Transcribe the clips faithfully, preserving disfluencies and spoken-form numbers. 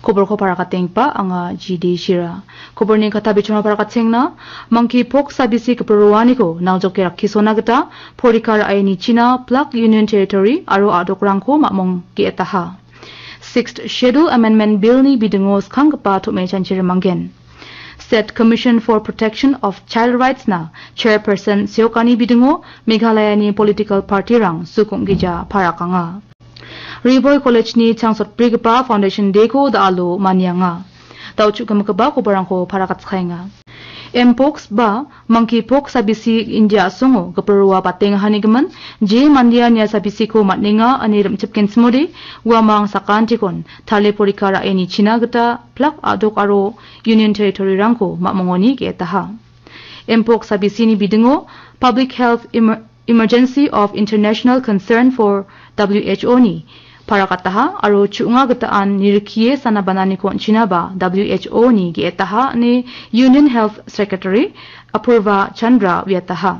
Koborko parakatenggipa anga G D Shira. Koborni kata bichona parakatengna, Monkeypox sabisi gipin roaniko naljoke rakkisona gita porika ra·e nichina plak Union Territory aro a·dokrangko mamong ge·etaha. Sixth Schedule Amendment Bill-ni bidingo skanggipa tom·e chanchirimanggen. State Commission for Protection of Child Rights-na Chairperson seokani bidingo Meghalaya-ni political party-rang sukong gija parakanga. Ri Bhoi College-ni changsotbrigipa Foundation Day-ko da·alo manianga. Da·o chu·gimigipa koborrangko parakatskaenga. Mpox ba Monkeypox sabisi India a·songo gipin roa batengahanigimin, je mandea nia sabisiko man·enga ine rim·chipgenchimode, uamang sakantikon tale porika ra·e nichina gita plak a·dok aro Union Territory-rangko mamongoni ge·etaha. Mpox sabisini bidingo Public Health Emer-, Emergency of International Concern for W H O-ni parakataha aro chu·nga gitaan nirikie sanabananiko on·chinaba W H O-ni ge·etaha ine Union Health Secretary Apurva Chandra uiataha.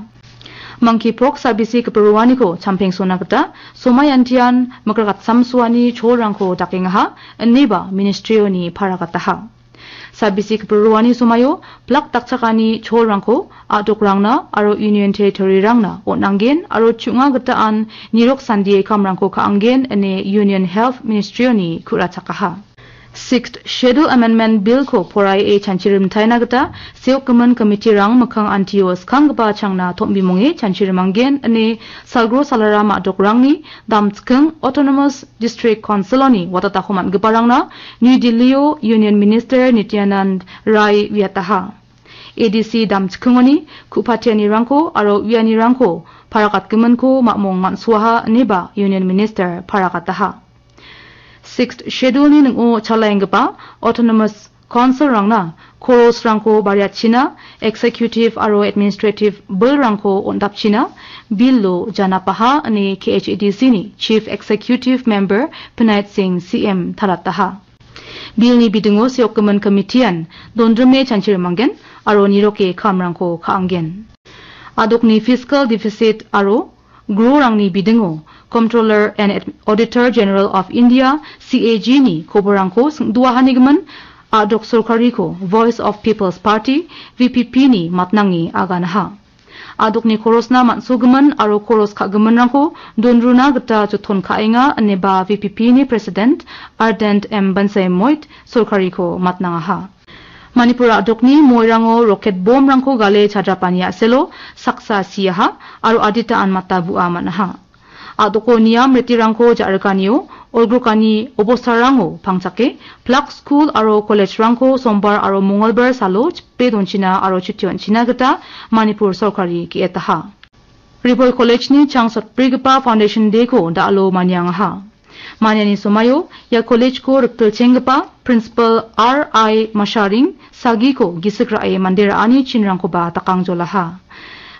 Monkeypox sabisi gipin roaniko champengsona gita somaiantian mikrakatsamsoani cholrangko dakengaha ineba ministry-oni parakataha. Sabisi gipin roani somaio plak dakchakani cholrangko a·dokrangna aro Union Territory-rangna on·anggen aro chu·nga gitaan nirok sandie kamrangko ka·anggen ine Union Health Ministry-oni ku·rachakaha. Sixth Schedule Amendment Bill-ko poraie chanchirimtaina gita seokgimin committee-rang mikkang antio skanggipa changna tom·bimonge chanchirimanggen ine Salgro Salaram a·dokrangni damchiking Autonomous District Council-oni watatako man·giparangna New Delhi-o Union Minister Nityanand Rai uiataha. A D C damchikingoni ku·patianirangko aro uianirangko parakatgiminko mamong man·soaha ineba Union Minister parakataha. Sixth Schedule-ni ning·o chalaenggipa Autonomous Council-rangna chorus-rangko bariatchina, executive aro administrative bill-rangko on·dapchina, bill-o janapaha ine K H A D C-ni Chief Executive Member Binoy Singh C M talataha. Bill-ni bidingo seokgimin committee-an dondrime chanchirimanggen aro niroke kamrangko ka·anggen. A·dokni fiscal deficit aro grorangni bidingo Comptroller and Ad-, Auditor General of India, C A G-ni koborrangko singdoahanigimin a·dok sorkariko Voice of People's Party, V P P-ni matnange aganaha. A·dokni chorus-na man·sogimin aro chorus ka·giminrangko donruna gita joton ka·enga ineba V P P-ni President Ardent M Bansemoit sorkariko matnangaha. Manipur a·dokni moirango roket bomrangko gale chadrapani a·selo saksa siaha aro adita anmata bu·a man·aha. A·doko niam ritirangko ja·rikanio olgrokani obostarango pangchake plak skul aro college-rangko sombar aro mongolbar salo chipe donchina aro chuti on·china gita Manipur sorkari ge·etaha. Ri Bhoi College-ni changsotbrigipa Foundation Day-ko da·alo maniangaha. Maniani somaio ia college-ko riktilchenggipa Principal R I Masharing sagiko gisik ra·e mande ra·ani chinrangkoba dakangjolaha.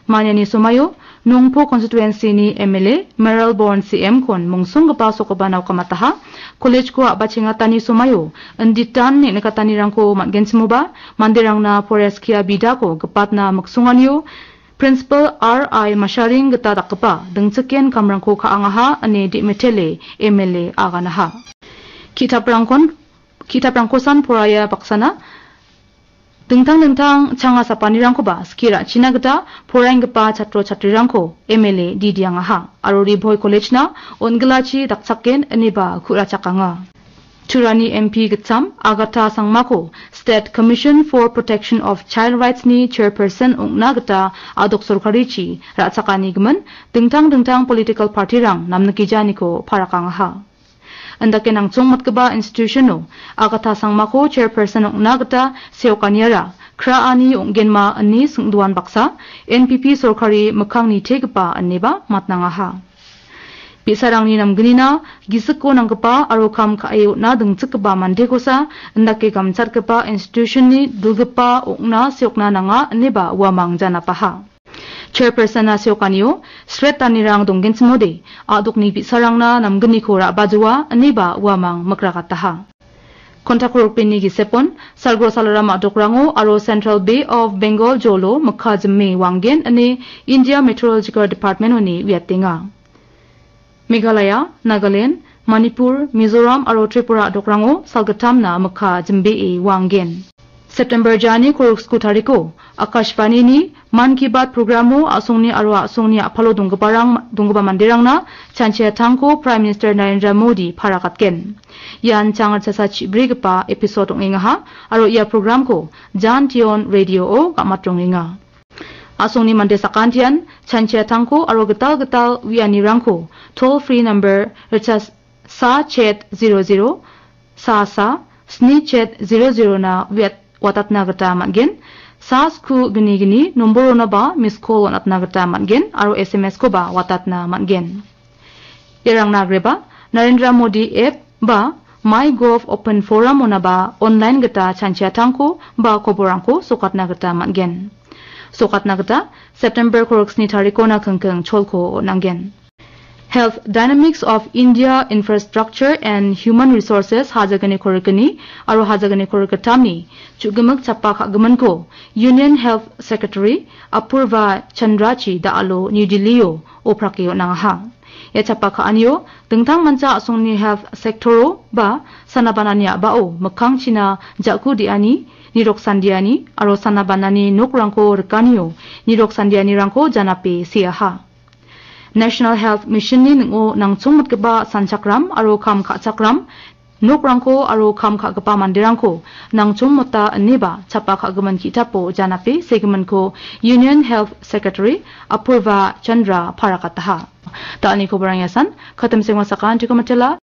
Maniani somaio Nongpo constituency-ni M L A Mayralborn C M-kon mungsonggipa sokgipa naokamataha. College-ko a·bachengatani somaio inditan neng·nikatanirangko man·genchimoba, manderangna poraia skia bidako gipatna miksonganio Principal R I Masharing gita dakgipa dingchiken kamrangko ka·angaha ine Demetele M L A aganaha. Ki·taprangkon, ki·taprangkosan poraia baksana dingtang dingtang changa sapanirangkoba skie ra·china gita poraenggipa chatro chatrirangko M L A didiangaha aro Ri Bhoi College-na on·gilachi dakchaken ineba ku·rachakanga. Turani M P gitcham Agatha Sangmako State Commission for Protection of Child Rights-ni chairperson ong·na gita a·dok sorkarichi ra·chakanigimin dingtang dingtang political party-rang namnikijaniko parakangaha. Indake nangchongmatgipa institution-o Agatha Sangmako chairperson ong·na gita seokaniara kraani ong·genma ine singdoan baksa N P P sorkari mikkangni tegipa ineba matnangaha. Bi·sarangni namgnina gisiko nanggipa aro kam ka·e on·na dingchikgipa mandekosa indake gamchatgipa institution-ni dilgipa ong·na seokna nanga ineba uamang janapaha. Chairperson-na seokanio sret danirang donggenchimode a·dokni bi·sarangna namgniko ra·bajoa ineba uamang mikragataha. Kontakrokbeni gisepon, Salgro Salaram a·dokrango aro Central Bay of Bengal jolo mikka jime wanggen ine India Meteorological Department-oni uiatenga. Meghalaya, Nagaland, Manipur, Mizoram aro Tripura a·dokrango salgittamna mikka jimbee wa·angen. September jani korok sku tariko Akashvanini Mann Ki Baat programo a·songni aro a·songni a·palo donggiparang, donggipa manderangna chanchiatangko Prime Minister Narendra Modi parakatgen. Ian chang ritchasa chibrigipa episode ong·engaha aro ia programko Jan Tion Radio-o gamatrongenga. A·songni mande sakantian chanchiatangko aro gital gital uianirangko toll free number ritchasa chet zero zero, sa sa, sni chet zero zero na uiat-, watatna gita man·gen. Sa sku gni gni nomboronaba miss call on·atna gita man·gen aro S M S-koba watatna man·gen. Iarangna agreba Narendra Modi app ba MyGov Open Forum-onaba online gita chanchiatangko ba koborrangko sokatna gita man·gen. Sokatna gita September korok sni tarikona kingking cholko on·angen. Health Dynamics of India Infrastructure and Human Resources hajagni korikni aro hajagni korikgittamni chu·gimik chapa ka·giminko Union Health Secretary Apurva Chandrachi da·alo New Delhi-o oprake on·angaha. Ia chapa ka·anio dingtangmancha a·songni health sector-o ba sanabanani a·bao mikkangchina ja·ku de·ani, nirok sandiani aro sanabanani nokrangko rikanio nirok sandianirangko janape seaha. National Health Mission-ni ning·o nangchongmitgipa sanchakram aro kam ka·chakram nokrangko aro kam ka·gipa manderangko nangchongmota ineba chapa ka·gimin ki·tapo janape segiminko Union Health Secretary Apurva Chandra parakataha. Da·alni koborang iasan, katim sengwa sakantiko mitela.